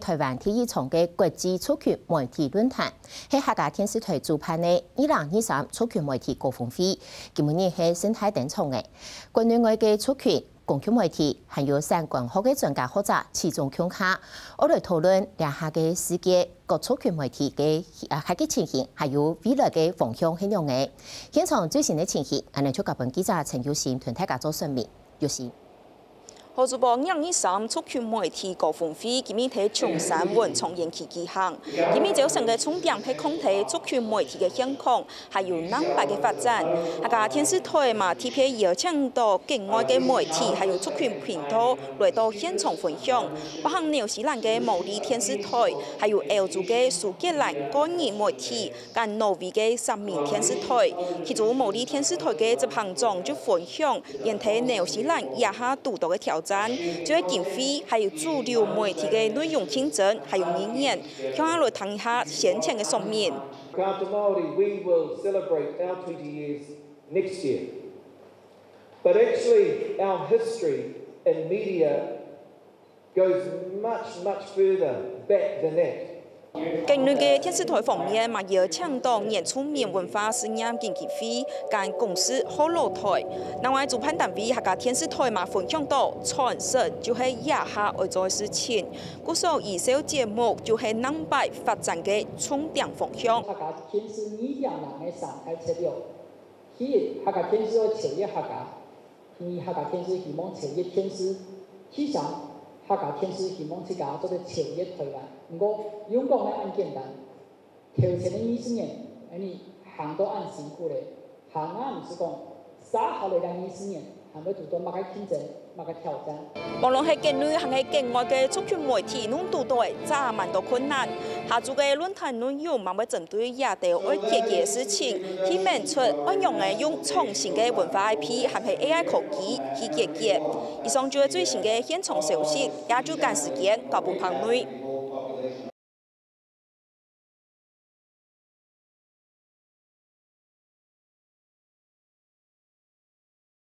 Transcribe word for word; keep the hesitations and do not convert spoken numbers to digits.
臺灣第一場个國際族群媒體論壇，係客家電視臺主辦个二零二三族群媒體高峰會，今晡日係盛大登場个。國內外个族群、公共媒體，還有相關學个專家學者齊聚共下，愛來討論這下个世界各族群媒體个啊，客家情形，還有未來个方向係仰仔。現場最新个情形，𠊎等就交分記者陳玉興同大家做說明。玉興。 好，主播，二零二三族群媒體高峰會今日在松山文創園區舉行。今日朝晨个重點係講在族群媒體个現況，還有南北个發展。客家電視臺嘛特別邀請到境外个媒體，還有族群頻道來到現場分享，包含紐西蘭个毛利電視臺，還有歐洲个蘇格蘭個人媒體， 佮挪威个三民電視臺。其中毛利電視臺个執行長就分享，因為紐西蘭這下堵著个挑戰，就係經費還有主流媒體个內容競爭，還有語言。共下來聽一下先前个說明。 After Māori, we will celebrate our twenty years next year. But actually, our history in media goes much, much further back than that. 境內个電視臺方面嘛邀請到原住民文化事業基金會佮公視學老臺。另外主辦單位客家電視臺嘛分享到傳承就係這下愛做个事情。故所以這節目就係南北發展个重點方向。客家電視二點零个生態策略，第一，客家電視愛超越客家。 第二，客家電視希望超越電視。第三，客家電視希望自家做得超越臺灣。毋過，用講个恁簡單，頭前个二十年，𠊎等行到恁辛苦咧，還啊毋使講，續下來个二十年，還會堵著麼个競爭，麼个挑戰。無論係境內還係境外个族群媒體，攏堵著著蠻多困難。下晝个論壇內容嘛會針 對這兜愛解決个事情，去問出愛仰仔用創新个文化I P，還係A I科技去解決。以上就係最新个現場消息，也就趕時間交分朋友。